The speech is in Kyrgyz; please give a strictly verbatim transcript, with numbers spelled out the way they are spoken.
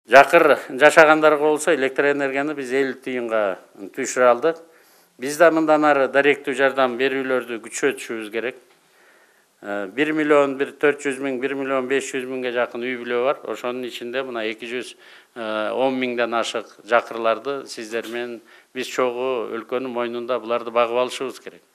Жакыр жашагандарга болсо электр энергияны биз элүү тыйынга түшүрө алдык. Биз да мындан ары даректүү жардам берүүлөрдү күчөтүшүбүз керек. бир миллион төрт жүз миң, бир миллион беш жүз миңге жакын үй бүлө бар. Ошонун ичинде мына эки жүз он миңден ашык жакырларды сиздер менен биз чогуу өлкөнүн мойнунда буларды багып алышыбыз керек.